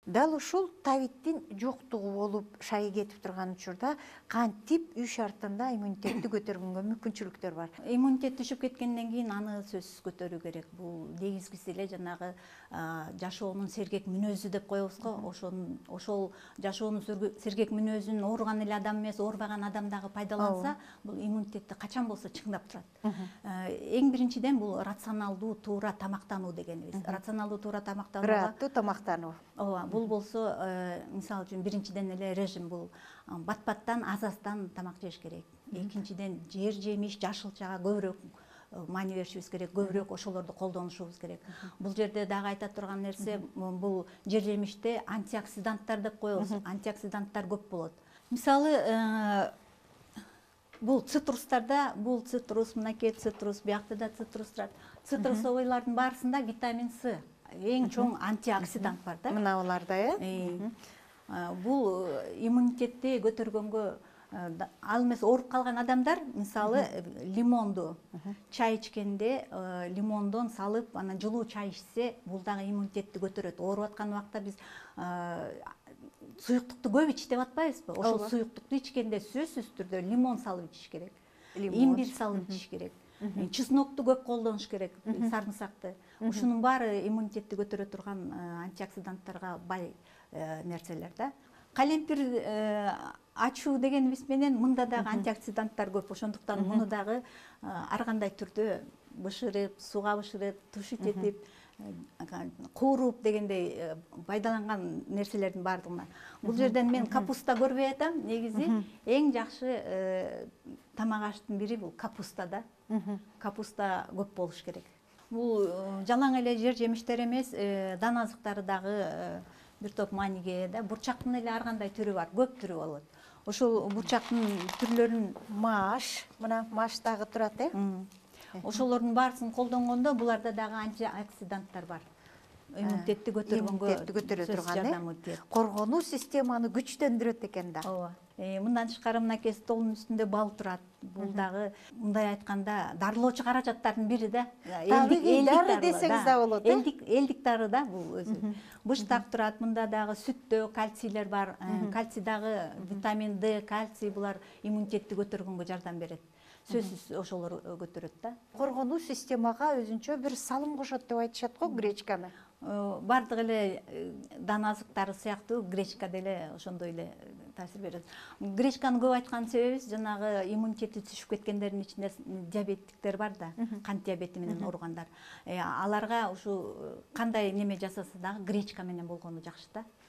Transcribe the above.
Дал ушул табиттин жоктугу болуп шайы кетип турган учурда кантип үй шартында иммунитетти көтөргөнгө мүмкүнчүлүктөр бар? Иммунитет түшүп кеткенден кийин аны сөзсүз көтөрүү керек. Бул негизгиси эле жанагы жашоонун сергек мүнөзү деп коебуз го. Ошол жашоонун сергек мүнөзүн ооруган эле адам эмес, оорубаган адам дагы пайдаланса, бул иммунитетти качан болсо чыңдап турат. Эң биринчиден бул рационалдуу туура тамактануу дегенибиз. Рационалдуу туура тамактанууга Ырааттуу тамактануу. ооба, бул болсо мисалы үчүн биринчиден эле режим бул бат-баттан аз-аздан тамак жеш керек. Экинчиден жер жемиш, жашылчага көбүрөөк маани беришибиз керек, көбүрөөк ошолорду колдонушубуз керек. Бул жерде дагы айта турган нерсе, бул жер жемиште антиоксиданттар деп коебуз. Антиоксиданттар көп болот. Мисалы, бул цитрустарда, бул цитрус, мынакей цитрус, биякта да цитрус турат. Цитрусовыйлардын баарысында витамин С, эң чоң антиоксидант бар да. Мына буларда, Бул иммунитетти көтөргөнгө, ал эмес ооруп калган адамдар мисалы лимонду чай ичкенде лимондон салып, анан жылуу чай ичсе, бул дагы иммунитетти көтөрөт. Ооруп аткан убакта биз суюктукту көп ич деп атпайбызбы? Ошол суюктукту ичкенде сөзсүз түрдө лимон салып ичиш керек. Имбирь салып ичиш керек. Чеснокту көп колдонуш керек, сарымсакты. Ушунун баары иммунитетти көтөрө турган антиоксиданттарга бай нерселер да. Калемпир ачуу дегенибиз менен мында дагы антиоксиданттар көп. Ошондуктан муну дагы ар кандай түрдө бышырып, сууга бышырып, тушить этип, кууруп дегендей пайдаланган нерселердин баардыгына. Бул жерден мен капуста көрбөй атам. Негизи эң жакшы тамак аштын бири бул капуста да. Капуста көп болуш керек. Бул жалаң эле жер жемиштер эмес, дан азыктары дагы бир топ мааниге ээ да. Бурчактын эле ар кандай түрү бар, көп түрү болот. Ошол бурчактын түрлөрүн мына маш дагы турат, ошолордун баарысын колдонгондо буларда дагы антиоксиданттар бар. Иммунитетти көтөргөнгө турган, коргонуу системаны күчтөндүрөт экен да. Ооба. Мындан тышкары мынакей столдун үстүндө бал турат. Бул дагы мындай айтканда дарылоочу каражаттардын бири да. Дары десеңиз да болот. Элдик дары да бул өзү. Быштак турат, мында дагы сүттө кальцийлер бар. Кальций дагы витамин D, кальций булар иммунитетти көтөргөнгө жардам берет. Сөзсүз ошолор көтөрөт да. Коргонуу системага өзүнчө бир салым кошот деп айтышат го гречканы. Бардык эле дан азыктары сыяктуу гречка деле ошондой эле таасир берет. Гречканы көп айткан себебибиз жанагы иммунитети түшүп кеткендердин ичинде диабеттиктер бар да, кант диабети менен ооругандар. Аларга ушу кандай неме жасаса дагы гречка менен болгону жакшы да.